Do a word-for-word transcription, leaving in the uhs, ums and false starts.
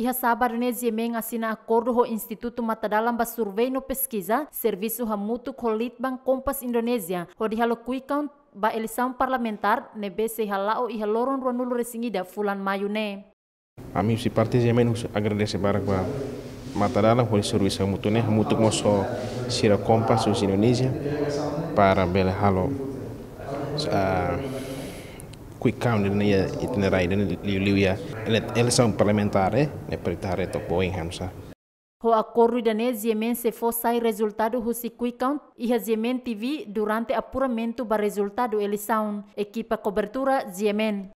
Iha sábadu ne'e GMN asina akordu ho Institutu Matadalan ba Survei no Peskiza, servisu hamutuk ho Litbang Kompas Indonézia, hodi halo quick count ba eleisaun parlamentár ne'ebé sei hala'o iha loron ruanulu-resin-ida fulan Maiu ne'e. Ami husi parte GMN husu agradese barak ba Matadalan hodi servisu hamutuk ne'e, hamutuk mós ho sira Kompas husi Indonézia para bele halo, ah, quick count ne'e iha itineráriu ne'e liuliu iha ele-, eleisaun parlamentár, eh, ne'e para ita haree took ba oin hanesan. Ho akordu ida-ne'e GMN sei fó sai rezultadu husi quick count iha GMN TV durante apuramentu ba rezultadu eleisaun. Ekipa kobertura GMN.